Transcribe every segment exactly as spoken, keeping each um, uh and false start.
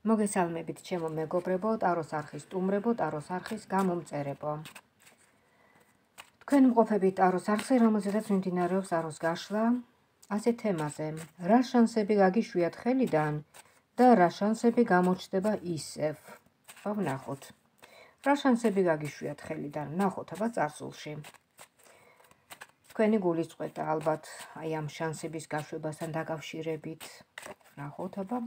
მოგესალმებით ჩემო მეგობრებო, ტაროს არხის სტუმრებო, ტაროს არხის გამომწერებო. თქვენ მყოფებით ტაროს არხზე, რომელზედაც მიმდინარეობს ტაროს გაშლა, ასე თემაზე, რა შანსები გაგიშვიათ ხელიდან და რა შანსები გამოჩნდება ისევ. ვნახოთ. რა შანსები გაგიშვიათ ხელიდან, ვნახოთ აბა წარსულში. თქვენი გულისწყეთა ალბათ აი ამ შანსების გაშვებასთან დაკავშირებით. ვნახოთ აბა.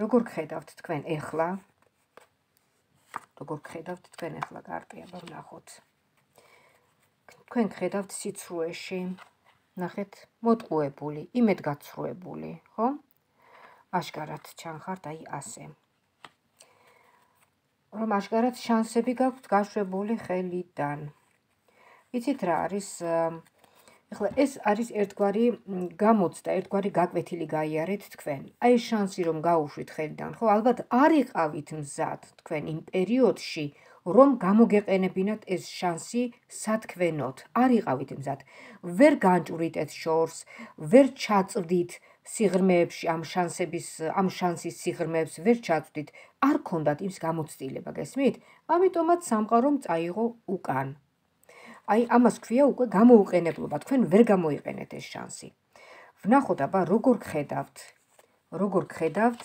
როგორ გხედავთ თქვენ ეხლა? როგორ გხედავთ თქვენ ეხლა კარტი, აბა ვნახოთ. თქვენ გხედავთ სიცრუეში, ნახეთ, მოტყუებული, იმედგაცრუებული, ხო? აშკარად ჩანხართ აი ასე. რომ აშკარად შანსები გაქვთ გაშვებული ხელიდან. იცით რა არის? ეხლა ეს არის ერთგვარი გამოცდა, ერთგვარი გაკვეთილი გაიარეთ თქვენ. აი შანსი რომ გაუშვით ხელიდან, ხო? ალბათ არ იყავით მზად თქვენ იმ პერიოდში, რომ გამოგეყენებინათ ეს შანსი სათქმენოდ. არ იყავით მზად. ვერ განჭვრით ეს შორს, ვერ ჩაწვდით სიღრმეებში ამ შანსების, ამ შანსის სიღრმეებს ვერ ჩაწვდით. არ ქონდათ იმის გამოცდილება, გესმით? ამიტომაც სამყარომ წაიღო უკან. აი ამას ქვია უკვე გამოუყენებლობა, თქვენ ვერ გამოიყენეთ ეს შანსი. ვნახოთ აბა როგორ გხედავთ, როგორ გხედავთ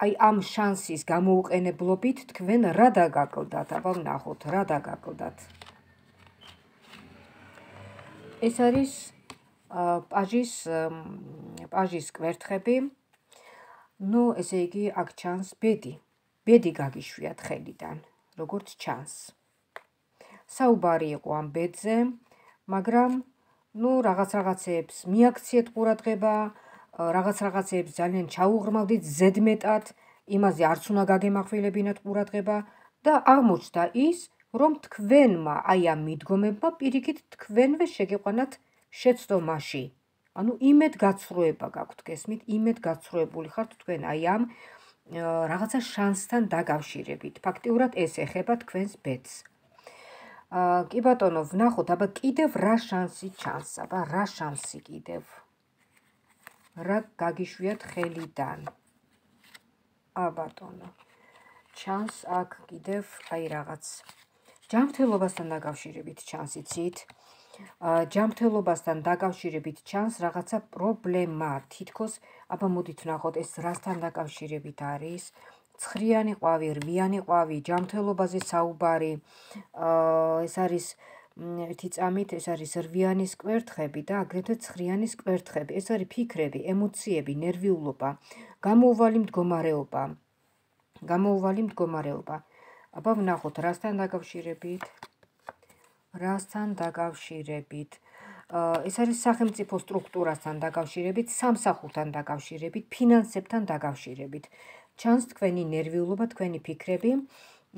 აი ამ შანსის გამოუყენებლობით თქვენ რა დაგაკლდათ, აბა ვნახოთ რა დაგაკლდათ. ეს არის პაჟის პაჟის კვერთხები. ნუ ესე იგი აქ ჩანს ბედი. ბედი გაგიშვიათ ხელიდან, როგორც ჩანს. საუბარი იყო ამ ბედზე, მაგრამ ნუ რაღაც რაღაცეებს მიაქციეთ ყურადღება, რაღაც რაღაცეებს ძალიან ჩაუღრმავდით ზედმეტად, იმაზე არც უნდა გაგემახვილებინათ ყურადღება და აღმოჩნდა ის, რომ თქვენმა აი ამ მიდგომებმა პირიქით თქვენვე შეგეყვანათ შეცდომაში. ანუ იმედგაცრუება გაქვთ, გესმით? იმედგაცრუებული ხართ თქვენ აი ამ რაღაცა შანსთან დაკავშირებით. ფაქტიურად ეს ეხება თქვენს ბედს. კი ბატონო, ვნახოთ, აბა კიდევ რა შანსი ჩანს, აბა რა შანსი კიდევ. რა გაგიშვიათ ხელიდან. ა ბატონო. ჩანს აქ კიდევ აი რაღაც ჯანმრთელობასთან დაკავშირებით ჩანს, იცით? ჯანმრთელობასთან დაკავშირებით ჩანს რაღაცა პრობლემა. თითქოს, აბა მოდით ვნახოთ, ეს რასთან დაკავშირებით არის? ცხრიანი ყვავი, რვიანი ყვავი, ჯანმრთელობაზე საუბარი. ეს არის ერთი წამით, ეს არის რვიანის კვერთხები და აგრეთვე ცხრიანის კვერთხები. ეს არის ფიქრები, ემოციები, ნერვიულობა, გამოუვალი მდგომარეობა. გამოუვალი მდგომარეობა. აბა ვნახოთ, რასთან დაკავშირებით? რასთან დაკავშირებით? ეს არის სახელმწიფო სტრუქტურასთან დაკავშირებით, სამსახურთან დაკავშირებით, ფინანსებთან დაკავშირებით. ჩანს თქვენი ნერვიულობა, თქვენი ფიქრები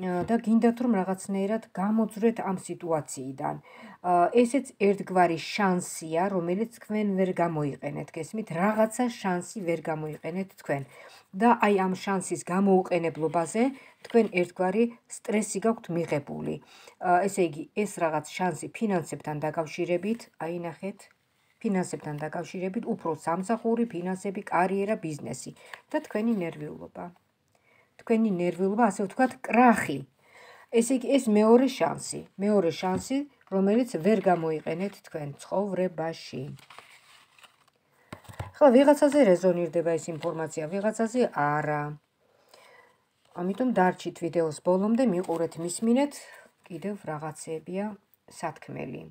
და გინდათ რომ რაღაცნაირად გამოძვრეთ ამ სიტუაციიდან. ესეც ერთგვარი შანსია, რომელიც თქვენ ვერ გამოიყენეთ, გესმით? რაღაცა შანსი ვერ გამოიყენეთ თქვენ. და აი ამ შანსის გამოუყენებლობაზე თქვენ ერთგვარი სტრესი გაქვთ მიღებული. ესე იგი, ეს რაღაც შანსი ფინანსებთან დაკავშირებით, აი ნახეთ, ფინანსებთან დაკავშირებით, უფრო სამსახური, ფინანსები, კარიერა, ბიზნესი და თქვენი ნერვიულობა. თქვენი ნერვიულობა, ასე ვთქვათ, კრახი. ესე იგი, ეს მეორე შანსი, მეორე შანსი, რომელიც ვერ გამოიყენეთ თქვენ ცხოვრებაში. ხლა ვიღაცაზე რეზონირდება ეს ინფორმაცია, ვიღაცაზე არა. ამიტომ დარჩით ვიდეოს ბოლომდე, მიყურეთ, მისმინეთ, კიდევ რაღაცეებია სათქმელი.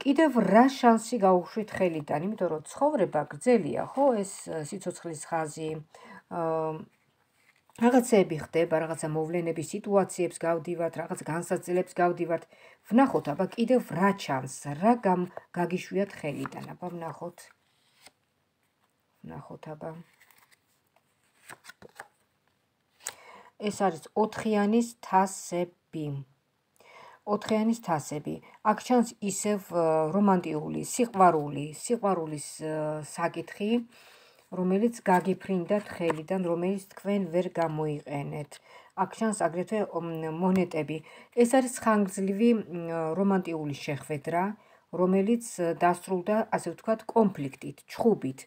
კიდევ რა შანსი გაუშვით ხელიდან, იმიტომ რომ ცხოვრება გრძელია, ხო? ეს სიცოცხლის ხაზი, რაღაცეები ხდება, რაღაცა მოვლენების სიტუაციებს გავდივართ, რაღაც განსაცდელებს გავდივართ. ვნახოთ, აბა კიდევ რა ჩანს, რა გაგიშვიათ ხელიდან, აბა ვნახოთ. ვნახოთ, აბა. ეს არის ოთხიანის თასები. ოთხიანის თასები. აქ ჩანს ისევ რომანტიული, სიყვარული, სიყვარულის საკითხი, რომელიც გაგიფრინდათ ხელიდან, რომელიც თქვენ ვერ გამოიყენეთ. აქ ჩანს აგრეთვე მონეტები. ეს არის ხანგრძლივი რომანტიული შეხვედრა, რომელიც დასრულდა, ასე ვთქვათ, კონფლიქტით, ჩხუბით.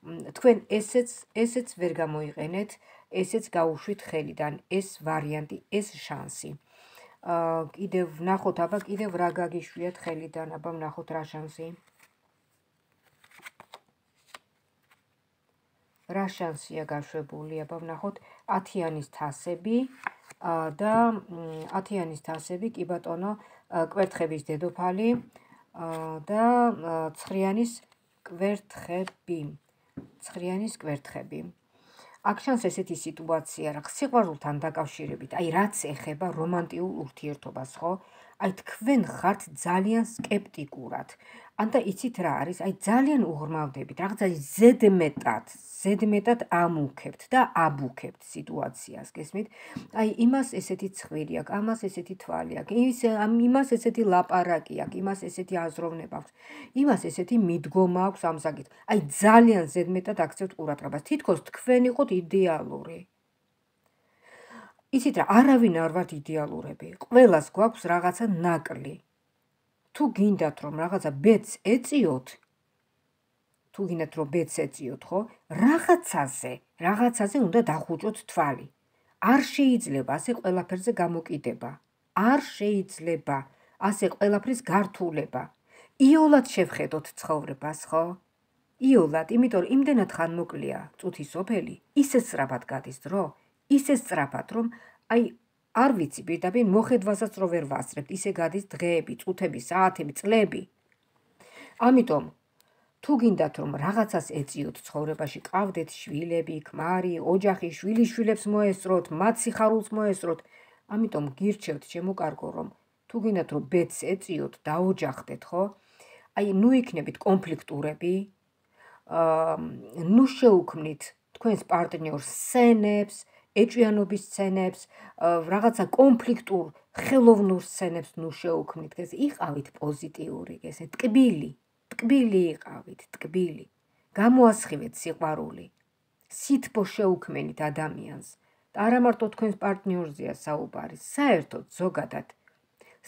თქვენ ესეც ესეც ვერ გამოიყენეთ, ესეც გაუშვით ხელიდან, ეს ვარიანტი, ეს შანსი. კიდევ ვნახოთ, აბა კიდევ რა გაგიშვიათ ხელიდან, აბა ვნახოთ რა შანსი. რა შანსია გაშვებული, აბა ვნახოთ ათიანის თასები და ათიანის თასები, კი ბატონო, კვერთხების დედოფალი და ცხრიანის კვერთხები. ცხრიანის კვერთხები. აქ შანს ესეთი სიტუაცია, რა სიყვარულთან დაკავშირებით, აი რაც ეხება რომანტიულ ურთიერთობას, ხო? აი თქვენ ხართ ძალიან სკეპტიკურად. ანდა იცით რა არის? აი ძალიან უღრმავდებით, რაღაცა ზედმეტად, ზედმეტად ამუქებთ და აბუქებთ სიტუაციას, გესმით? აი იმას ესეთი ცხვირი აქვს, ამას ესეთი თვალი აქვს, იმას ესეთი ლაპარაკი აქვს, იმას ესეთი აზროვნება აქვს, იმას ესეთი მიდგომა აქვს ამ საკითხ. აი ძალიან ზედმეტად აქცევთ ყურადღებას. თითქოს თქვენ იყოთ იდეალური. იცით რა, არავინ არ ვართ იდეალურები. ყველას გვაქვს რაღაცა ნაკლი. თუ გინდათ რომ რაღაცა ბედს ეწიოთ, თუ გინდათ რომ ბედს ეწიოთ, ხო? რაღაცაზე, რაღაცაზე უნდა დახუჭოთ თვალი. არ შეიძლება ასე ყველაფერზე გამოკიდება. არ შეიძლება ასე ყველაფრის გართულება. იოლად შევხედოთ ცხოვრებას, ხო? იოლად, იმიტომ რომ იმდენად ხანმოკლეა წუთი სოფელი, ისე სწრაფად გადის დრო, ისე სწრაფად, რომ აი არ ვიცი, პირდაპირ მოხედვასაც რო ვერ ვასწრებთ, ისე გადის დღეები, წუთები, საათები, წლები. ამიტომ თუ გინდათ რომ რაღაცას ეწიოთ ცხოვრებაში, ყავდეთ შვილები, ქმარი, ოჯახი, შვილიშვილებს მოესწროთ, მათ სიხარულს მოესწროთ, ამიტომ გირჩევთ ჩემო კარგო, რომ თუ გინდათ რომ ბედს ეწიოთ, დაოჯახდეთ, ხო? აი ნუ იქნებით კონფლიქტურები, ნუ შეუქმნით თქვენს პარტნიორს სცენებს, ეჭვიანობის სცენებს, რაღაცა კონფლიქტურ, ხელოვნურ სცენებს ნუ შეუქმნით, ეს იყავით პოზიტიური, ესე ტკბილი, ტკბილი იყავით, ტკბილი. გამოასხივეთ სიყვარული. სითბო შეუქმენით ადამიანს. და არა მარტო თქვენს პარტნიორზეა საუბარი, საერთოდ ზოგადად.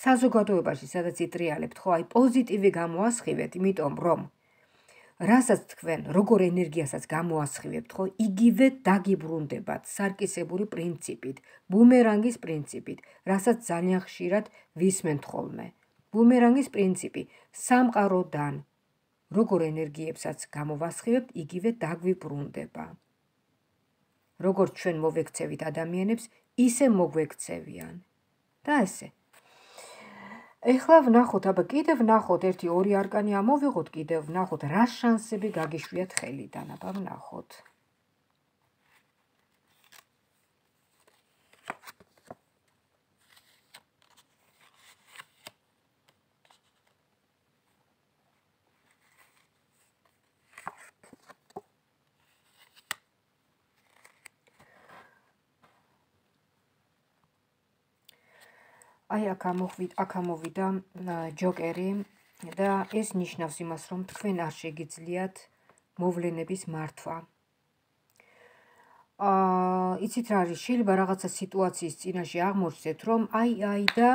საზოგადოებაში, სადაც იტრიალებთ, ხო, აი პოზიტივი გამოასხივეთ, იმიტომ რომ რასაც თქვენ როგორ ენერგიასაც გამოასხივებთ, ხო, იგივე დაგიბრუნდებათ სარკისებური პრინციპით, ბუმერანგის პრინციპით, რასაც ძალიან ხშირად ვისმენთ ხოლმე. ბუმერანგის პრინციპი სამყაროდან როგორ ენერგიებსაც გამოვასხივებთ, იგივე დაგვიბრუნდება. როგორც ჩვენ მოვექცევით ადამიანებს, ისე მოგვექცევიან. და ესე. ეხლა ვნახოთ, აბა კიდევ ვნახოთ, ერთი ორი არკანი ამოვიღოთ, კიდევ ვნახოთ, რა შანსები გაგიშვიათ ხელიდან, აბა ვნახოთ. აი აქ ამოვიდა ჯოკერი და ეს ნიშნავს იმას, რომ თქვენ არ შეგიძლიათ მოვლენების მართვა. იცით რა არის, შეიძლება რაღაცა სიტუაციის წინაშე აღმოჩნდეთ, რომ აი აი და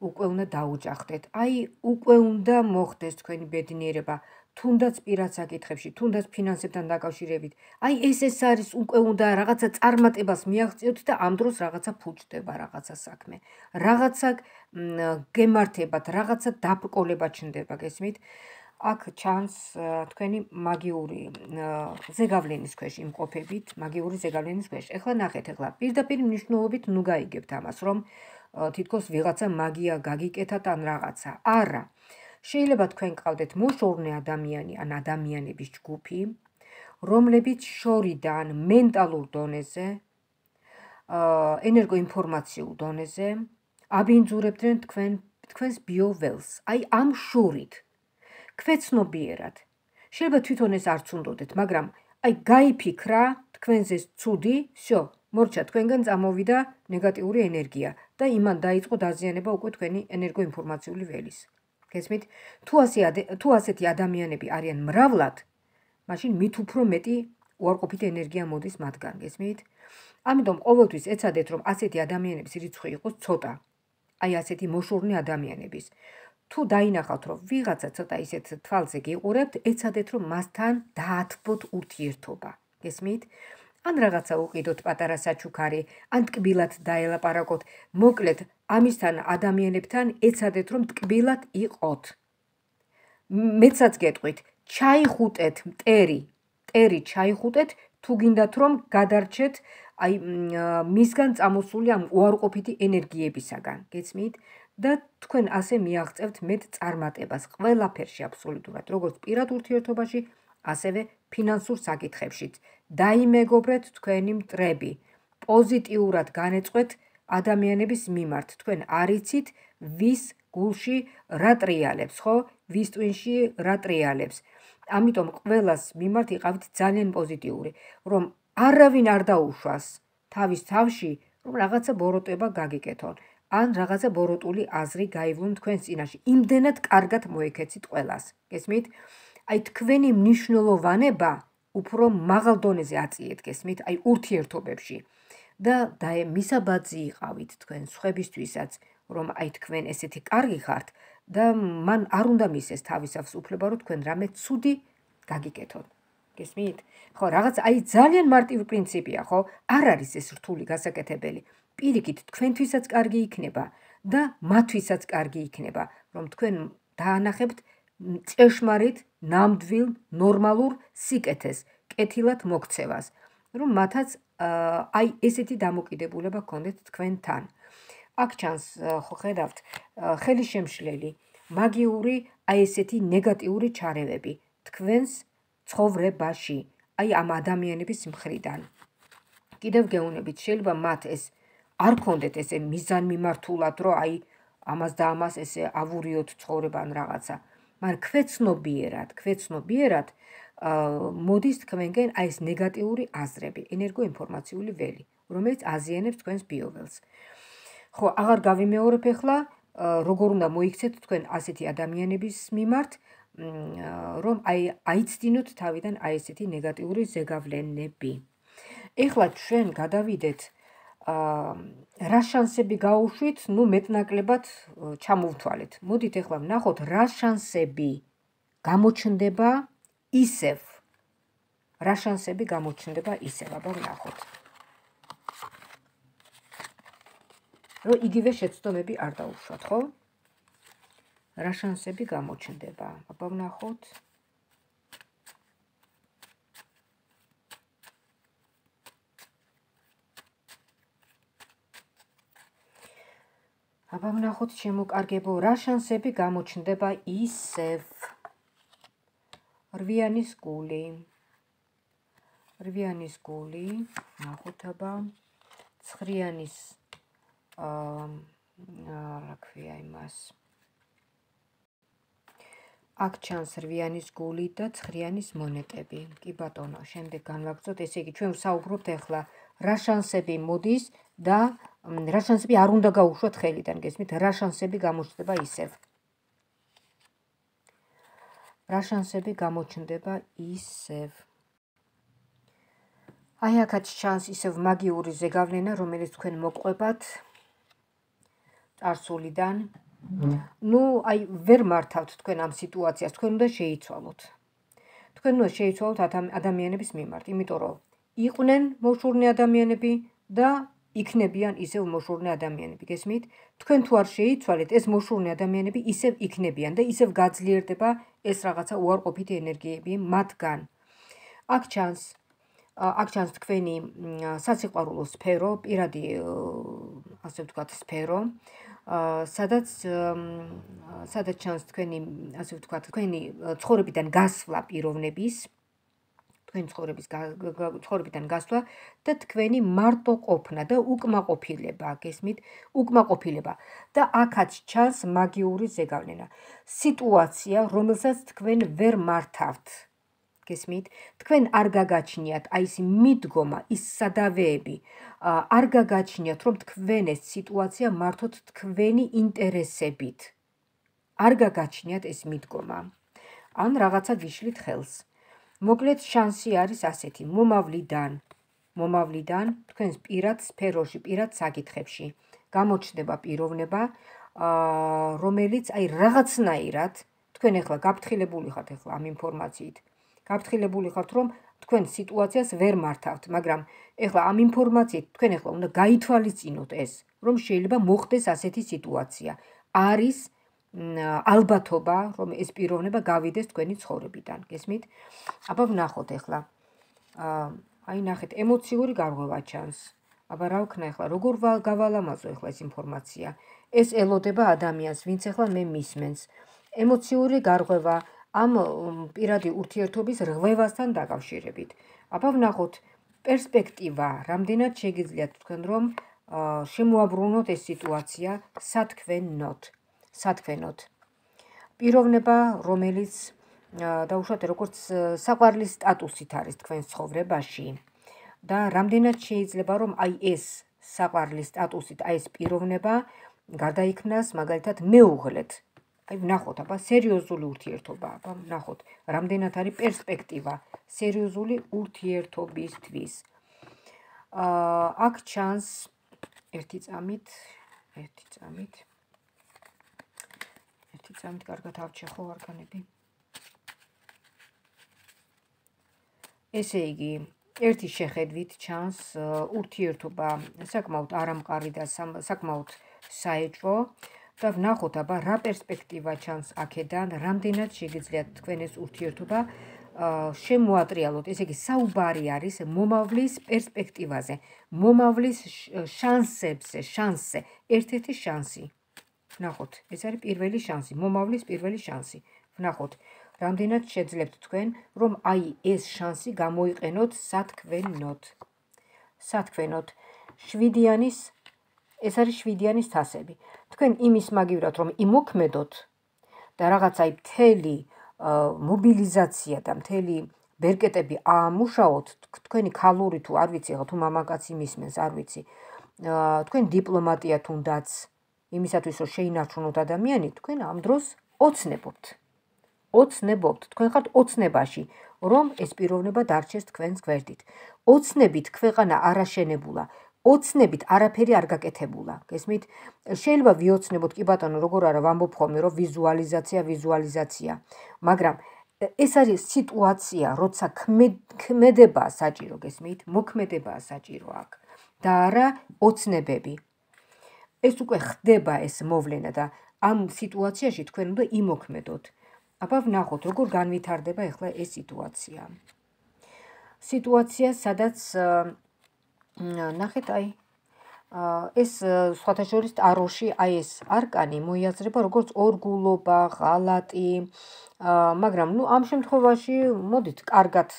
უკვე უნდა დაუჯახდეთ. აი უკვე უნდა მოხდეს თქვენი ბედნიერება, თუნდაც პირად საკითხებში, თუნდაც ფინანსებთან დაკავშირებით. აი ეს ეს არის, უკვე უნდა რაღაცა წარმატებას მიაღწიოთ და ამ დროს რაღაცა ფუჭდება, რაღაცა საქმე. რაღაცა გემართებათ, რაღაცა დაბრკოლება ჩნდება, გესმით? აქ ჩანს თქვენი მაგიური ზეგავლენის ქვეშ იმყოფებით, მაგიური ზეგავლენის ქვეშ. ეხლა ნახეთ, ეხლა პირდაპირ მნიშვნელობით ნუ გაიგებთ ამას, რომ თითქოს ვიღაცა მაგია გაგიკეთათ ან რაღაცა. არა. შეიძლება თქვენ ყავდეთ მოშორნე ადამიანი ან ადამიანების ჯგუფი, რომლებიც შორიდან მენტალურ დონეზე, ენერგოინფორმაციულ დონეზე აბინძურებდნენ თქვენ თქვენს ბიოველს. აი ამ შორით. ქვეცნობიერად. შეიძლება თვითონ ეს არც უნდოდეთ, მაგრამ აი გაიფიქრა თქვენზე ცუდი, всё, მორჩა თქვენგან წამოვიდა ნეგატიური ენერგია და იმან დაიწყო დაზიანება უკვე თქვენი ენერგოინფორმაციული ველის. გესმით? თუ ასე თუ ასეთი ადამიანები არიან მრავლად, მაშინ მით უფრო მეტი უარყოფითი ენერგია მოდის მათგან, გესმით? ამიტომ ყოველთვის ეცადეთ, რომ ასეთი ადამიანების რიცხვი იყოს ცოტა. აი ასეთი მოშორნე ადამიანების. თუ დაინახავთ, რომ ვიღაცა ცოტა ისეთ თვალზე გიყურებთ, ეცადეთ, რომ მასთან დაათბოთ ურთიერთობა. გესმით? ან რაღაცა უყიდოთ პატარა საჩუქარი, ან ტკბილად დაელაპარაკოთ. მოკლედ, ამისთან ადამიანებთან ეცადეთ, რომ ტკბილად იყოთ. მეცაც გეტყვით, ჩაიხუტეთ მტერი, მტერი ჩაიხუტეთ, თუ გინდათ, რომ გადარჩეთ აი მისგან წამოსული ამ უარყოფითი ენერგიებისაგან. გესმით? და თქვენ ასე მიაღწევთ მეტ წარმატებას ყველაფერში აბსოლუტურად, როგორც პირად ურთიერთობაში, ასევე ფინანსურ საკითხებშიც. დაიმეგობრეთ თქვენი მტრები, პოზიტიურად განეწყვეთ ადამიანების მიმართ. თქვენ არ იცით, ვის გულში რა ტრიალებს, ხო? ვის ტვინში რა ტრიალებს. ამიტომ ყველას მიმართ იყავით ძალიან პოზიტიური, რომ არავინ არ დაუშვას თავის თავში, რომ რაღაცა ბოროტება გაგიკეთონ. ან რაღაცა ბოროტული აზრი გაივლონ თქვენს წინაშე. იმდენად კარგად მოეკეცით ყველას. გესმით? აი თქვენი მნიშვნელოვანება უფრო მაღალ დონეზე აწიეთ, გესმით? აი ურთიერთობებში. და მისაბაძი იყავით თქვენ სხვებისთვისაც, რომ აი თქვენ ესეთი კარგი ხართ და მან არ უნდა მისცეს თავისავს უფლება, რომ თქვენ რამე ცუდი გაგიკეთოთ. გესმით? ხო, რაღაც აი ძალიან მარტივი პრინციპია, ხო? არ არის ეს რთული გასაკეთებელი. პირიქით, თქვენთვისაც კარგი იქნება და მათთვისაც კარგი იქნება, რომ თქვენ დაანახებთ ჭეშმარიტ, ნამდვილ, ნორმალურ სიკეთეს, კეთილად მოქცევას, რომ მათაც აი ესეთი დამოკიდებულება გქონდეთ თქვენთან. აქ ჩანს, ხო ხედავთ, ხელისშემშლელი, მაგიური აი ესეთი ნეგატიური ჩარევები თქვენს ცხოვრებაში, აი ამ ადამიანების მხრიდან. კიდევ გეუბნებით, შეიძლება მათ ეს არ გქონდეთ ესე მიზანმიმართულად, რომ აი ამას და ამას ესე ავურიოთ ცხოვრება ან რაღაცა. მაგრამ ქვეცნობიერად, ქვეცნობიერად მოდის თქვენგენ აი ეს ნეგატიური აზრები, ენერგოინფორმაციული ველი, რომელიც აზიანებს თქვენს ბიოველს. ხო, აღარ გავიმეორებ ახლა, როგორ უნდა მოიქცეთ თქვენ ასეთი ადამიანების მიმართ, რომ აი აიცდინოთ თავიდან აი ესეთი ნეგატიური ზეგავლენები. ეხლა ჩვენ გადავიდეთ რა შანსები გაუშვით, ნუ მეტნაკლებად ჩამოვთვალეთ. მოდით ახლა ვნახოთ რა შანსები გამოჩნდება ისევ. რა შანსები გამოჩნდება ისევ, აბა ვნახოთ. რომ იგივე შეცდომები არ დაუშვათ, ხო? რა შანსები გამოჩნდება, აბა ვნახოთ. აბა ვნახოთ შემოკარგებო, რა შანსები გამოჩნდება ისევ. რვიანის გული. რვიანის გული, ვნახოთ აბა. ცხრიანის რა ქვია იმას. აქ ჩანს რვიანის გული და ცხრიანის მონეტები. კი ბატონო, შემდეგ განვაგრძოთ, ესე იგი ჩვენ ვსაუბრობთ ახლა რა შანსები მოდის და რა შანსები არ უნდა გაუშვათ ხელიდან, გესმით? რა შანსები გამოჩნდება ისევ. რა შანსები გამოჩნდება ისევ. აი აქაც ჩანს ისევ მაგიური ზეგავლენა, რომელიც თქვენ მოყვებათ წარსულიდან. ნუ აი ვერ მართავთ თქვენ ამ სიტუაციას, თქვენ უნდა შეიცვალოთ. თქვენ უნდა შეიცვალოთ ადამიანების მიმართ, იმიტომ რომ იყვნენ მოშურნე ადამიანები და იქნებიან ისევ მოშურნე ადამიანები, გესმით? თქვენ თუ არ შეიცვალეთ, ეს მოშურნე ადამიანები ისევ იქნებიან და ისევ გაძლიერდება ეს რაღაცა უარყოფითი ენერგიები მათგან. აქ ჩანს აქ ჩანს თქვენი სასიყვარულო სფერო, პირადი ასე ვთქვათ სფერო, სადაც სადაც ჩანს თქვენი ასე ვთქვათ თქვენი ცხოვრებიდან გასვლა პიროვნების, თქვენი ცხოვრების ცხოვრებიდან გასვლა და თქვენი მარტო ყოფნა და უკმაყოფილება, გესმით? უკმაყოფილება და აქაც ჩანს მაგიური ზეგავლენა. სიტუაცია, რომელსაც თქვენ ვერ მართავთ. გესმით? თქვენ არ გაგაჩნიათ აი ეს მიდგომა, ის სადავეები, არ გაგაჩნიათ, რომ თქვენ ეს სიტუაცია მართოთ თქვენი ინტერესებით. არ გაგაჩნიათ ეს მიდგომა. ან რაღაცა გიშლით ხელს. მოკლედ შანსი არის ასეთი, მომავლიდან, მომავლიდან თქვენს პირად სფეროში, პირად საკითხებში გამოჩნდება პიროვნება, რომელიც აი რაღაცნაირად თქვენ ახლა გაფრთხილებული ხართ ახლა ამ ინფორმაციით. გაფრთხილებული ხართ, რომ თქვენ სიტუაციას ვერ მართავთ, მაგრამ ახლა ამ ინფორმაციით თქვენ ახლა უნდა გაითვალისწინოთ ეს, რომ შეიძლება მოხდეს ასეთი სიტუაცია. არის ალბათობა, რომ ეს პიროვნება გავიდეს თქვენი ცხოვრებიდან. გესმით? აბა ვნახოთ ახლა. აი ნახეთ, ემოციური გარღვევა ჩანს. აბა რა ვქნა ახლა, როგორ გავალამაზო ახლა ეს ინფორმაცია. ეს ელოდება ადამიანს, ვინც ახლა მე მისმენს. ემოციური გარღვევა ამ პირადი ურთიერთობის რღვევასთან დაკავშირებით. აბა ვნახოთ, პერსპექტივა, რამდენად შეგიძლიათ თქვენ რომ შემოაბრუნოთ ეს სიტუაცია სათქვენოდ. სათქვენოდ. პიროვნება, რომელიც დაუშვათ როგორც საყვარლის სტატუსით არის თქვენ ცხოვრებაში და რამდენად შეიძლება რომ აი ეს საყვარლის სტატუსით აი ეს პიროვნება გადაიქნას მაგალითად მეუღლეთ. აი ვნახოთ, აბა სერიოზული ურთიერთობა, აბა ვნახოთ, რამდენად არის პერსპექტივა სერიოზული ურთიერთობისთვის. აქ ჩანს ერთი წამით, ერთი წამით. ერთი წამით კარგად ავჩეხო არგანები. ესე იგი, ერთი შეხედვით ჩანს ურთიერთობა საკმაოდ არამყარი და საკმაოდ საეჭვო და ვნახოთ, აბა რა პერსპექტივა ჩანს აქედან, რამდენად შეგიძლიათ თქვენ ეს ურთიერთობა შემოატრიალოთ. ესე იგი, საუბარი არის მომავლის პერსპექტივაზე, მომავლის შანსებზე, შანსზე, ერთ-ერთი შანსი. ვნახოთ, ეს არის პირველი შანსი, მომავლის პირველი შანსი. ვნახოთ, რამდენად შეძლებთ თქვენ, რომ აი ეს შანსი გამოიყენოთ სათქვენოდ. სათქვენოდ. შვიდიანის, ეს არის შვიდიანის თასები. თქვენ იმის მაგივრად, რომ იმოქმედოთ და რაღაცა მთელი მობილიზაცია და მთელი ბერკეტები აამუშაოთ, თქვენი ქალური თუ არ ვიცი, თუ მამაკაცი მისმენს, არ ვიცი. თქვენ დიპლომატია თუნდაც იმისათვის, რომ შეინარჩუნოთ ადამიანი, თქვენ ამ დროს ოცნებობთ. ოცნებობთ, თქვენ ხართ ოცნებაში, რომ ეს პიროვნება დარჩეს თქვენს გვერდით. ოცნებით ქვეყანა არ აშენებულა, ოცნებით არაფერი არ გაკეთებულა. გესმით? შეიძლება ვიოცნებოთ, კი ბატონო, როგორ არა ვამბობ ხოლმე, რომ ვიზუალიზაცია, ვიზუალიზაცია. მაგრამ ეს არის სიტუაცია, როცა ქმედებაა საჭირო, გესმით? მოქმედებაა საჭირო აქ და არა ოცნებები. ეს უკვე ხდება ეს მოვლენა და ამ სიტუაციაში თქვენ უნდა იმოქმედოთ. აბა ვნახოთ, როგორ განვითარდება ახლა ეს სიტუაცია. სიტუაცია, სადაც ნახეთ, აი ეს სხვათა შორის ტაროში აი ეს არკანი მოიაზრება როგორც ორგულობა, ღალატი, მაგრამ ნუ ამ შემთხვევაში მოდით კარგად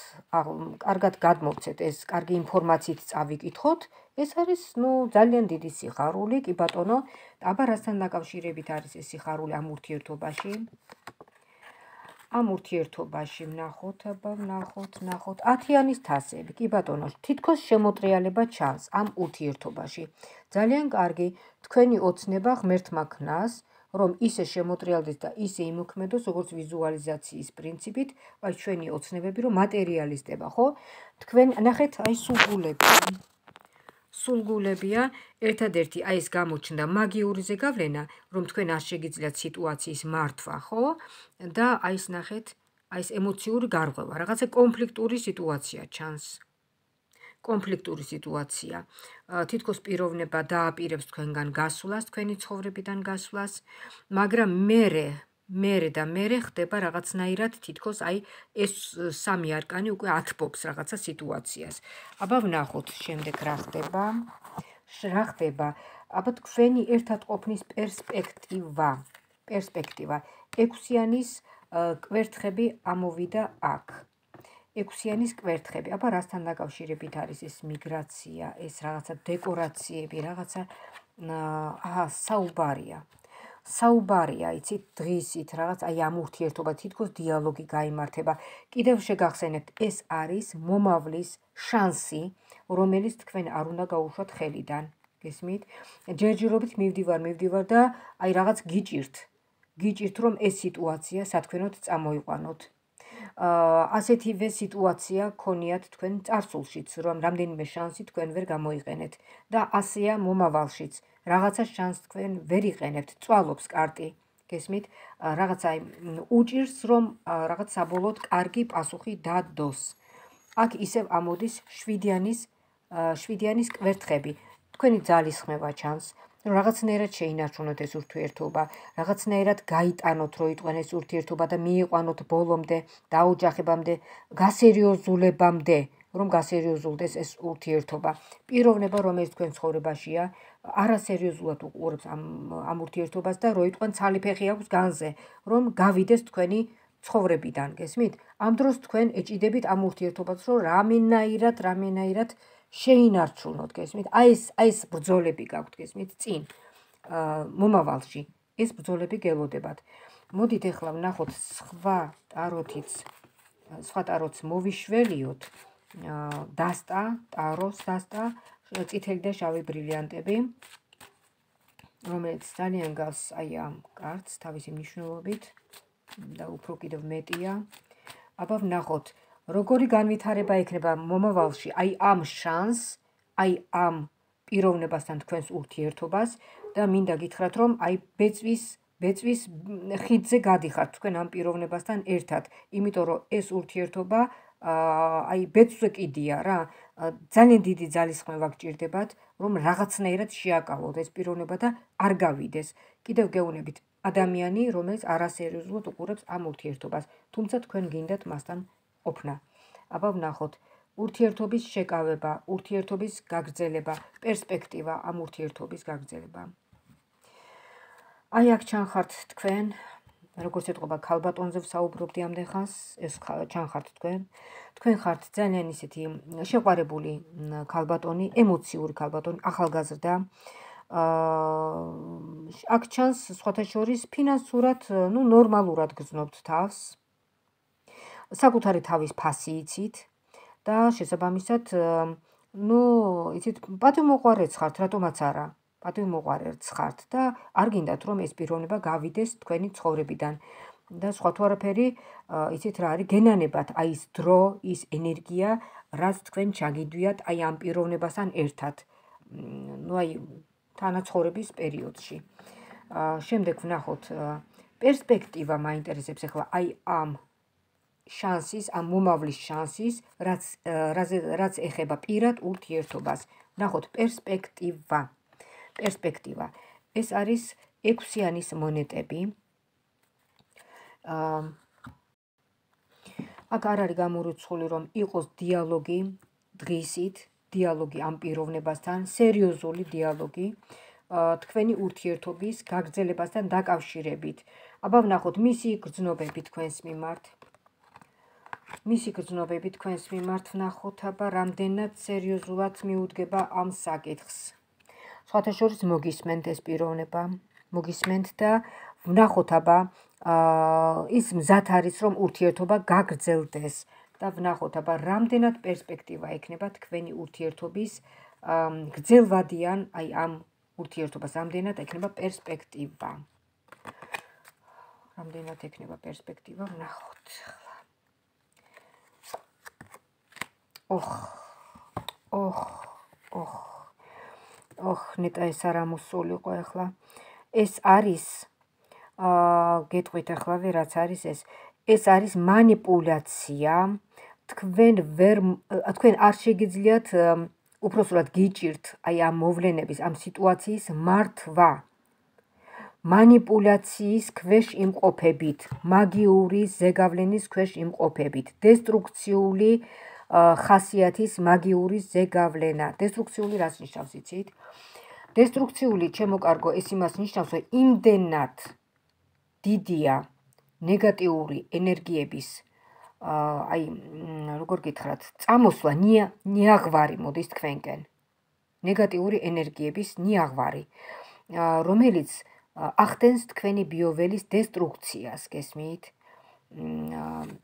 კარგად გადმოვცეთ, ეს კარგი ინფორმაციით წავიკითხოთ. ეს არის ნუ ძალიან დიდი სიხარული, კი ბატონო, აბა რასთან დაკავშირებით არის ეს სიხარული ამ ურთიერთობაში? ამ ურთიერთობაში ვნახოთ, აბა ვნახოთ, ვნახოთ ათიანის თასები, კი ბატონო, თითქოს შემოტრიალება ჩანს ამ ურთიერთობაში. ძალიან კარგი, თქვენი ოცნება ღმერთმა ქნას, რომ ისე შემოტრიალდეს და ისე იმოქმედოს, როგორც ვიზუალიზაციის პრინციპით, აი ჩვენი ოცნებები რომ მატერიალისტება, ხო? თქვენ ნახეთ, აი სულგულები. სულგულებია, ერთადერთი აი ეს გამოჩნდა მაგიური ზეგავლენა, რომ თქვენ არ შეგიძლიათ სიტუაციის მართვა, ხო? და აი ეს ნახეთ, აი ეს ემოციური გარღვევა, რაღაცა კონფლიქტური სიტუაცია ჩანს. კონფლიქტური სიტუაცია. თითქოს პიროვნება დააპირებს თქვენგან გასვლას, თქვენი ცხოვრებიდან გასვლას, მაგრამ მერე მერე და მერე ხდება რაღაცნაირად თითქოს აი ეს სამი არკანი უკვე ათბობს რაღაცა სიტუაციას. აბა ვნახოთ შემდეგ რა ხდება. რა ხდება? აბა თქვენი ერთად ყოფნის პერსპექტივა. პერსპექტივა. ექვსიანის კვერთხები ამოვიდა აქ. ექვსიანის კვერთხები. აბა რასთან დაკავშირებით არის ეს მიგრაცია, ეს რაღაცა დეკორაციები, რაღაცა აჰა, საუბარია. საუბარია, იცით, დღისით, რაღაც აი ამ ურთიერთობა თითქოს დიალოგი გაიმართება. კიდევ შეგახსენებთ, ეს არის მომავლის შანსი, რომელიც თქვენ არ უნდა გაუშვათ ხელიდან. გესმით? ჯერჯერობით მივდივარ, მივდივარ და აი რაღაც გიჭირთ. გიჭირთ, რომ ეს სიტუაცია სათქვენოდ წამოიყვანოთ. ასეთივე სიტუაცია გქონიათ თქვენ წარსულშიც, რომ რამდენიმე შანსი თქვენ ვერ გამოიყენეთ და ასეა მომავალშიც. რაღაცა შანსს თქვენ ვერ იყენებთ, წვალობს კარტი. გესმით? რაღაცა უჭირს, რომ რაღაც საბოლოოდ კარგი პასუხი დადოს. აქ ისევ ამოდის შვიდიანის შვიდიანის კვერთხები. თქვენი ძალისხმევა ჩანს, რომ რაღაცნაირად შეინარჩუნოთ ეს ურთიერთობა, რაღაცნაირად გაიტანოთ, რომ იტყვენ ეს ურთიერთობა და მიიყვანოთ ბოლომდე, დაოჯახებამდე, გასერიოზულებამდე, რომ გასერიოზულდეს ეს ურთიერთობა. პიროვნება, რომელიც თქვენ ცხოვრებაშია, არასერიოზულად უყურებს ამ ამ ურთიერთობას და რო იტყვენ ცალი ფეხი აქვს განზე, რომ გავიდეს თქვენი ცხოვრებიდან, გესმით? ამ დროს თქვენ ეჭიდებით ამ ურთიერთობას, რომ რამენაირად, რამენაირად შეინარჩუნოთ, გესმით? აი ეს აი ეს ბრძოლები გაქვთ, გესმით? წინ მომავალში ეს ბრძოლები გელოდებათ. მოდით ახლა ვნახოთ სხვა ტაროთიც, სხვა ტაროთს მოვიშველიოთ. დასტა, ტაროს დასტა, წითელი და შავი ბრილიანტები, რომელიც ძალიან გავს აი ამ კარტს თავისი მნიშვნელობით და უფრო კიდევ მეტია. აბა ვნახოთ, როგორი განვითარება ექნება მომავალში აი ამ შანსს, აი ამ პიროვნებასთან თქვენს ურთიერთობას და მინდა გითხრათ, რომ აი ბეწვის ბეწვის ხიდზე გადიხართ თქვენ ამ პიროვნებასთან ერთად, იმიტომ რომ ეს ურთიერთობა აი ბეწვზე კიდია რა, ძალიან დიდი ძალისხმევა გჭირდებათ, რომ რაღაცნაირად შეაკავოთ ეს პიროვნება და არ გავიდეს. კიდევ გეუბნებით ადამიანი, რომელიც არასერიოზულად უყურებს ამ ურთიერთობას, თუმცა თქვენ გინდათ მასთან ყოფნა. აბა ვნახოთ, ურთიერთობის შეკავება, ურთიერთობის გაგრძელება, პერსპექტივა ამ ურთიერთობის გაგრძელება. აი აქ ჩანხართ თქვენ, როგორც ეთყობა ქალბატონზე ვსაუბრობდი ამდენ ხანს, ეს ჩანხართ თქვენ. თქვენ ხართ ძალიან ისეთი შეყვარებული ქალბატონი, ემოციური ქალბატონი, ახალგაზრდა. აქ ჩანს სხვათა შორის ფინანსურად, ნუ ნორმალურად გრძნობთ თავს. საკუთარი თავის ფასი იცით და შესაბამისად, ნუ იცით, პატივმოყვარეც ხართ, რატომაც არა. პატივმოყვარეც ხართ და არ გინდათ, რომ ეს პიროვნება გავიდეს თქვენი ცხოვრებიდან. და სხვა თუ არაფერი, იცით რა არის, გენანებათ აი ის დრო, ის ენერგია, რაც თქვენ ჩაგიდვიათ აი ამ პიროვნებასთან ერთად. ნუ აი თანაცხოვრების პერიოდში. შემდეგ ვნახოთ, პერსპექტივა მაინტერესებს ახლა აი ამ შანსის, ამ მომავლის შანსის, რაც რაც ეხება პირად ურთიერთობას. ვნახოთ პერსპექტივა. პერსპექტივა. ეს არის ექვსიანის მონეტები. აქ არ არის გამორიცხული, რომ იყოს დიალოგი დღისით, დიალოგი ამ პიროვნებასთან, სერიოზული დიალოგი თქვენი ურთიერთობის გაგრძელებასთან დაკავშირებით. აბა ვნახოთ მისი გრძნობები თქვენს მიმართ. მისი გრძნობები თქვენს მიმართ ვნახოთ, აბა რამდენად სერიოზულად მიუდგება ამ საკითხს. სხვათა შორის მოგისმენთ ეს პიროვნება, მოგისმენთ და ვნახოთ, აბა ის მზად არის, რომ ურთიერთობა გაგრძელდეს და ვნახოთ, აბა რამდენად პერსპექტივა ექნება თქვენი ურთიერთობის გრძელვადიან აი ამ ურთიერთობას, რამდენად ექნება პერსპექტივა. რამდენად ექნება პერსპექტივა, ვნახოთ. ოხ, ოხ, ოხ. ოხ, ნეტა ეს არ ამოსულიყო ახლა. ეს არის, გეტყვით ახლა რაც არის ეს. ეს არის მანიპულაცია. თქვენ ვერ თქვენ არ შეგიძლიათ უпроსურად გიჭირთ აი ამ მოვლენების, ამ სიტუაციის მართვა. მანიპულაციის ქვეშ იმყოფებით, მაგიური ზეგავლენის ქვეშ იმყოფებით, დესტრუქციული ხასიათის მაგიური ზეგავლენა. დესტრუქციული რას ნიშნავს იცით? დესტრუქციული ჩემო კარგო, ეს იმას ნიშნავს, რომ იმდენად დიდია ნეგატიური ენერგიების აი როგორ გითხრათ, წამოსვლა, ნიაღვარი მოდის თქვენკენ. ნეგატიური ენერგიების ნიაღვარი, რომელიც ახდენს თქვენი ბიოველის დესტრუქციას, გესმით?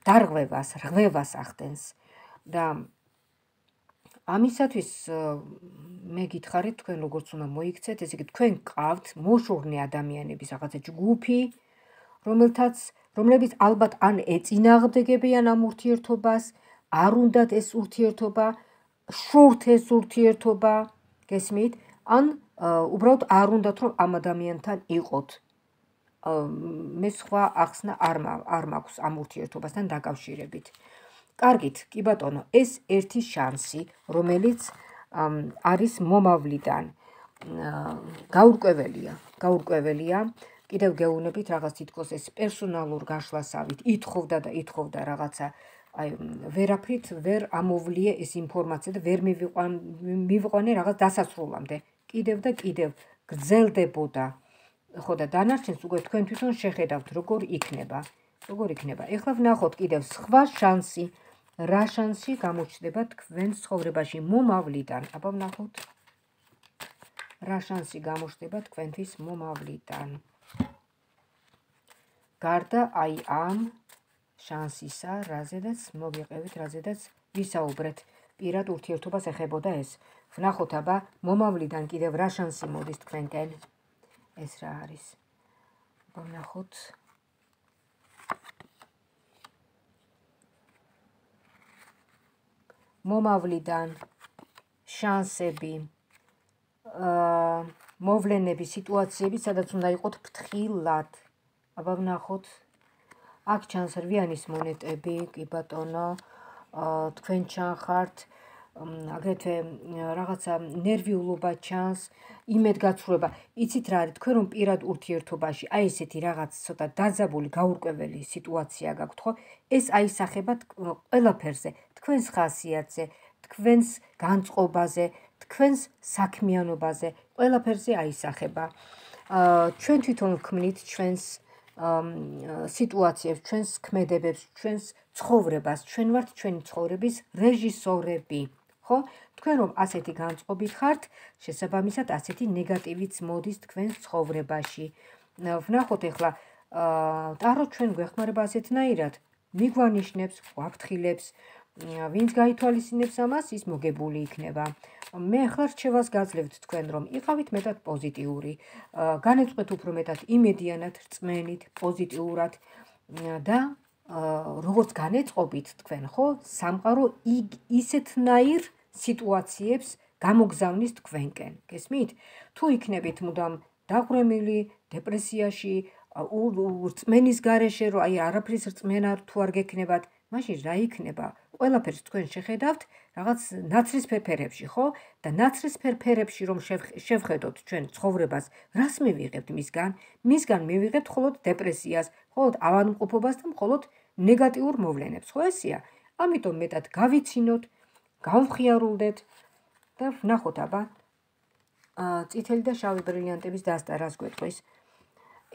დარღვევას, რღვევას ახდენს. და ამისათვის მე გითხარით, თქვენ როგორც უნდა მოიქცეთ, ესე იგი თქვენ გყავთ მოშურნე ადამიანების რაღაცა ჯგუფი, რომელთაც რომლებიც ალბათ ან ეწინააღმდეგებიან ამ ურთიერთობას, არ უნდათ ეს ურთიერთობა, შურთ ეს ურთიერთობა, გესმით? ან უბრალოდ არ უნდათ რომ ამ ადამიანთან იყოთ. მე სხვა ახსნა არ არ მაქვს ამ ურთიერთობასთან დაკავშირებით. კარგით, კი ბატონო, ეს ერთი შანსი, რომელიც არის მომავლიდან. გაურკვეველია, გაურკვეველია. კიდევ გეუბნებით რაღაც თითქოს ეს პერსონალურ გაშლასავით ითხოვდა და ითხოვდა რაღაცა, აი ვერაფრით ვერ ამოვლიე ეს ინფორმაცია და ვერ მივიყვანე რაღაც დასასრულამდე. კიდევ და კიდევ გრძელდებოდა. ხო და დანარჩენს უკვე თქვენ თვითონ შეხედავთ როგორ იქნება. როგორ იქნება. ეხლა ვნახოთ კიდევ სხვა შანსი. რა შანსი გამოჩნდება თქვენ ცხოვრებაში მომავლიდან? აბა ვნახოთ. რა შანსი გამოჩნდება თქვენთვის მომავლიდან? გარდა აი ამ შანსისა, რაზედაც მოგიყევით, რაზედაც ვისაუბრეთ, პირად ურთიერთობას ეხებოდა ეს. ვნახოთ აბა მომავლიდან კიდევ რა შანსი მოდის თქვენკენ? ეს რა არის? აბა ვნახოთ. მომავლიდან შანსები, მოვლენები, სიტუაციები, სადაც უნდა იყოთ ფრთხილად. აბა ვნახოთ. აქ ჩანს რვიანის მონეტები, კი ბატონო, თქვენ ჩანხართ, აგრეთვე რაღაცა ნერვიულობა ჩანს, იმედგაცრუება. იცით რა არის, თქვენ რომ პირად ურთიერთობაში, აი ესეთი რაღაც ცოტა დაძაბული, გაურკვეველი სიტუაცია გაქვთ, ხო? ეს აისახება ყველაფერზე, თქვენს ხასიათზე, თქვენს განწყობაზე, თქვენს საქმიანობაზე, ყველაფერზე აისახება. ჩვენ თვითონ ვქმნით ჩვენს სიტუაციებს, ჩვენს ქმედებებს, ჩვენს ცხოვრებას, ჩვენ ვართ ჩვენი ცხოვრების რეჟისორები, ხო? თქვენ რომ ასეთი განწყობით ხართ, შესაბამისად ასეთი ნეგატივიც მოდის თქვენს ცხოვრებაში. ვნახოთ ეხლა ტარო ჩვენ გვეხმარება ასეთნაირად, მიგვანიშნებს, გვაფრთხილებს, ვინც გაითვალისწინებს ამას, ის მოგებული იქნება. მე ახლა რჩევას გაძლევთ თქვენ რომ იყავით მეტად პოზიტიური, განეწყვეთ უფრო მეტად იმედიანად, რწმენით, პოზიტიურად და როგორც განეწყობით თქვენ, ხო, სამყარო ისეთნაირ სიტუაციებს გამოგზავნის თქვენკენ, გესმით? თუ იქნებით მუდამ დაღვრემილი, დეპრესიაში, რწმენის გარეშე, რომ აი არაფრის რწმენა თუ არ გექნებათ, მაშინ რა იქნება? ყველაფერს თქვენ შეხედავთ რაღაც ნაცრისფერ ფერებში, ხო? და ნაცრისფერ ფერებში რომ შევხედოთ ჩვენ ცხოვრებას, რას მივიღებთ მისგან? მისგან მივიღებთ მხოლოდ დეპრესიას, მხოლოდ ავადმყოფობას და მხოლოდ ნეგატიურ მოვლენებს, ხო ესეა? ამიტომ მეტად გავიცინოთ, გავხიარულდეთ და ვნახოთ აბა წითელი და შავი ბრილიანტების დასტა რას გვეტყვის.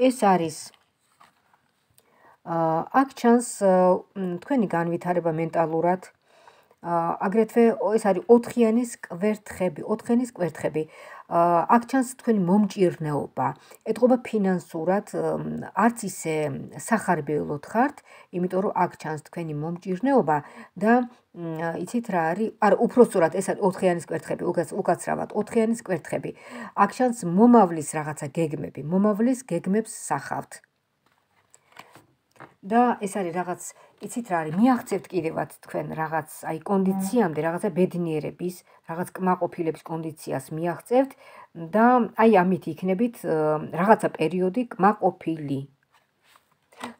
ეს არის აქ ჩანს თქვენი განვითარება მენტალურად, აგრეთვე ეს არის ოთხიანის კვერთხები, ოთხიანის კვერთხები. აქ ჩანს თქვენი მომჭირნეობა, ეტყობა ფინანსურად, არც ისე სახარბიელოდ ხართ, იმიტომ რომ აქ ჩანს თქვენი მომჭირნეობა და იცით რა არის, არა, უпроსტურად ეს არის ოთხიანის კვერთხები, უკაცრავად ოთხიანის კვერთხები. აქ ჩანს მომავლის რაღაცა გეგმები, მომავლის გეგმებს სახავთ. და ეს არის რაღაც, იცით რა არის, მიაღწევთ კიდევაც თქვენ რაღაც აი კონდიციამდე, რაღაცა ბედნიერების, რაღაც კმაყოფილების კონდიციას მიაღწევთ და აი ამით იქნებით რაღაცა პერიოდი კმაყოფილი.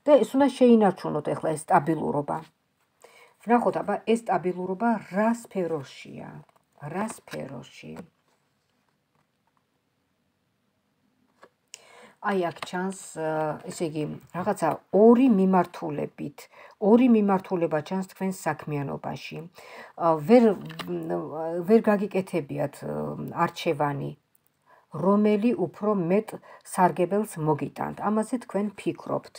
და ეს უნდა შეინარჩუნოთ ახლა ეს სტაბილურობა. ვნახოთ აბა ეს სტაბილურობა რა სფეროშია? რა სფეროში? აი აქ ჩანს, ესე იგი, რაღაცა ორი მიმართულებით, ორი მიმართულება ჩანს თქვენს საქმიანობაში. ვერ ვერ გაგიკეთებიათ არჩევანი, რომელი უფრო მეტ სარგებელს მოგიტანთ. ამაზე თქვენ ფიქრობთ.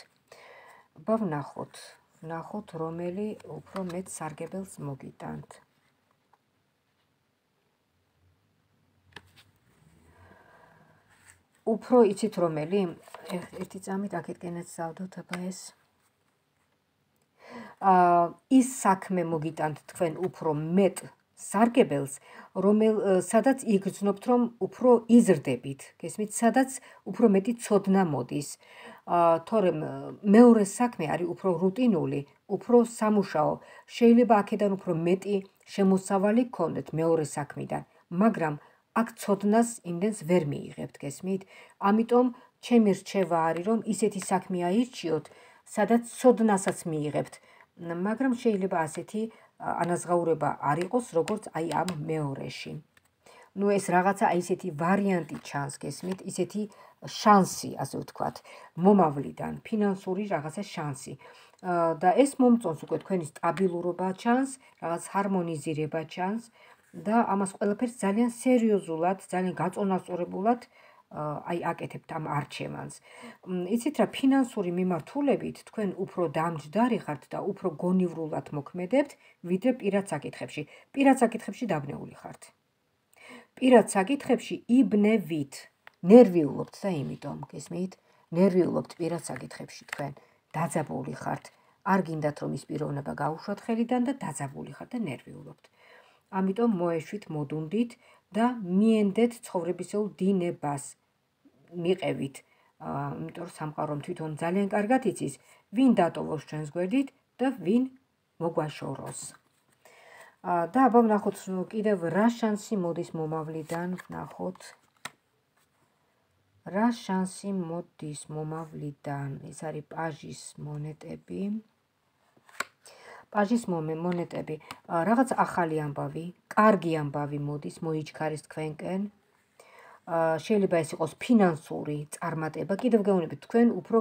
აბა ვნახოთ, ვნახოთ, რომელი უფრო მეტ სარგებელს მოგიტანთ. უფრო იცით რომელი? ერთი წამით აქეთკენაც დავდოთ აბა ეს. ის საქმე მოგიტანთ თქვენ უფრო მეტ სარგებელს, რომელ სადაც იგრძნობთ რომ უფრო იზრდებით, გესმით, სადაც უფრო მეტი ცოდნა მოდის. თორემ მეორე საქმე არის უფრო რუტინული, უფრო სამუშაო. შეიძლება აქედან უფრო მეტი შემოსავალი გქონდეთ მეორე საქმიდან, მაგრამ აქ ცოდნას იმდენს ვერ მიიღებთ, გესმით? ამიტომ ჩემი რჩევა არის, რომ ისეთი საქმე აირჩიოთ, სადაც ცოდნასაც მიიღებთ, მაგრამ შეიძლება ასეთი ანაზღაურება არ იყოს, როგორც აი ამ მეორეში. ნუ ეს რაღაცა აი ესეთი ვარიანტი ჩანს, გესმით? ისეთი შანსი, ასე ვთქვათ, მომავლიდან, ფინანსური რაღაცა შანსი. და ეს მომწონს უკვე თქვენი სტაბილურობა ჩანს, რაღაც ჰარმონიზირება ჩანს და ამას ყველაფერს ძალიან სერიოზულად, ძალიან გაწონასწორებულად აი აკეთებთ ამ არჩევანს. იცით რა, ფინანსური მიმართულებით თქვენ უფრო დამჯდარი ხართ და უფრო გონივრულად მოქმედებთ, ვიდრე პირად საკითხებში. პირად საკითხებში დაბნეული ხართ. პირად საკითხებში იბნევით, ნერვიულობთ და იმიტომ, გესმით? ნერვიულობთ პირად საკითხებში თქვენ, დაძაბული ხართ. არ გინდათ რომ ის პიროვნება გაუშვათ ხელიდან და დაძაბული ხართ და ნერვიულობთ. ამიტომ მოეშვით, მოდუნდით და მიენდეთ ცხოვრებისეულ დინებას. მიყევით, იმიტომ რომ სამყარო თვითონ ძალიან კარგად იცის, ვინ დატოვოს ჩვენს გვერდით და ვინ მოგვაშოროს. და აბა ვნახოთ კიდევ რა შანსი მოდის მომავლიდან, ვნახოთ. რა შანსი მოდის მომავლიდან? ეს არის პაჟის მონეტები. პაჟის მონეტები. რაღაც ახალი ამბავი, კარგი ამბავი მოდის, მოიჩქარის თქვენკენ. შეიძლება ეს იყოს ფინანსური წარმატება. კიდევ გეუბნებით, თქვენ უფრო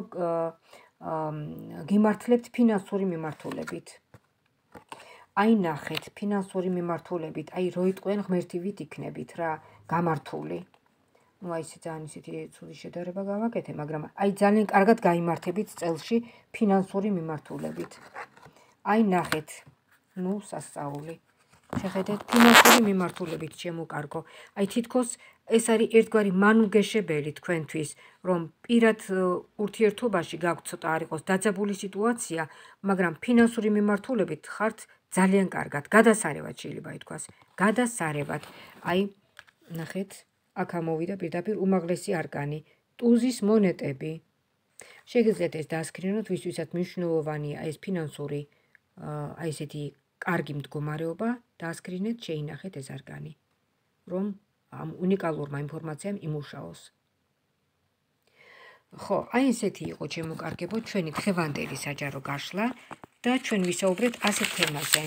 გიმართლებთ ფინანსური მიმართულებით. აი ნახეთ, ფინანსური მიმართულებით, აი რო იტყვენ ღმერთივით იქნებით რა, გამართული. ნუ აი ესე ძალიან ისეთი ცუდი შედარება გავაკეთე, მაგრამ აი ძალიან კარგად გაიმართებით წელში ფინანსური მიმართულებით. აი ნახეთ, ნუ სასწაული. შეხედეთ, ფინანსური მიმართულებით შემოკარგო. აი თითქოს ეს არის ერთგვარი მანუგეშებელი თქვენთვის, რომ პირად ურთიერთობაში გაქვთ ცოტა არ იყოს დაძაბული სიტუაცია, მაგრამ ფინანსური მიმართულებით ხართ ძალიან კარგად. გადასარევად შეიძლება ითქვას. გადასარევად. აი ნახეთ, აქ ამოვიდა პირდაპირ უმაღლესი არკანი, ტუზის მონეტები. შეგიძლიათ ეს დაასკრინოთ, ვისთვისაც მნიშვნელოვანია ეს ფინანსური აი ესეთი კარგი მდგომარეობა, დაასკრინეთ, შეინახეთ ეს არკანი, რომ ამ უნიკალურმა ინფორმაციამ იმუშაოს. ხო, აი ესეთი იყო ჩემოკარგებო ჩვენი დღევანდელი საჯარო გაშლა და ჩვენ ვისაუბრეთ ასეთ თემაზე.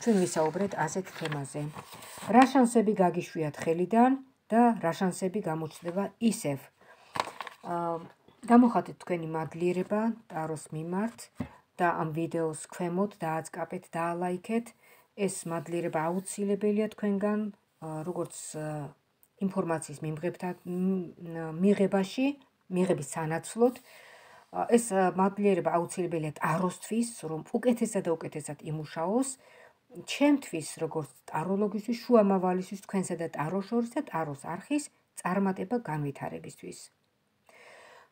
ჩვენ ვისაუბრეთ ასეთ თემაზე. რა შანსები გაგიშვიათ ხელიდან და რა შანსები გამოჩნდება ისევ. გამოხატეთ თქვენი მადლიერება ტაროს მიმართ და ამ ვიდეოს ქვემოთ დააწყაპეთ, დაალაიქეთ. ეს მადლიერება აუცილებელია თქვენგან, როგორც ინფორმაციის მიღებაში, მიღების სანაცვლოდ. ეს მადლიერება აუცილებელია ტაროსთვის, რომ უკეთესად და უკეთესად იმუშაოს. ჩემთვის, როგორც ტაროლოგისთვის, შუამავალისთვის, თქვენსა და ტაროს შორის და ტაროს არხის წარმატება განვითარებისთვის.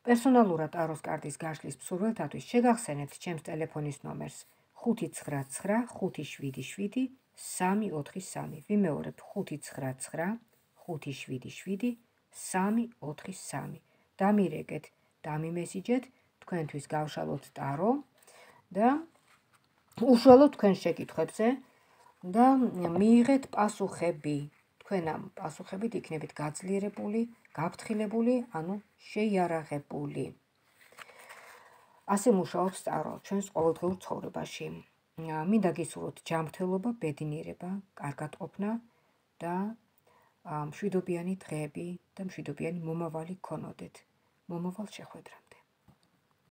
პერსონალურად ტაროს კარტის გაშლის მსურველთათვის შეგახსენებთ ჩემს ტელეფონის ნომერს ხუთი ცხრა ცხრა ხუთი შვიდი შვიდი სამი ოთხი სამი. ვიმეორებ ხუთი ცხრა ცხრა ხუთი შვიდი შვიდი სამი ოთხი სამი. დამირეკეთ, დამიმესიჯეთ, თქვენთვის გავშალოთ ტარო და უშუალოდ თქვენ შეკითხვებზე და მიიღეთ პასუხები. თქვენ ამ პასუხებით იქნებით გაძლიერებული, გაფრთხილებული, ანუ შეიარაღებული. ასე მუშაობს ტარო ჩვენს ყოველდღიურ ცხოვრებაში. მინდა გისურვოთ ჯანმრთელობა, ბედნიერება, კარგატყოფნა და მშვიდობიანი დღეები და მშვიდობიანი მომავალი გქონოდეთ. მომავალ შეხვედრამდე.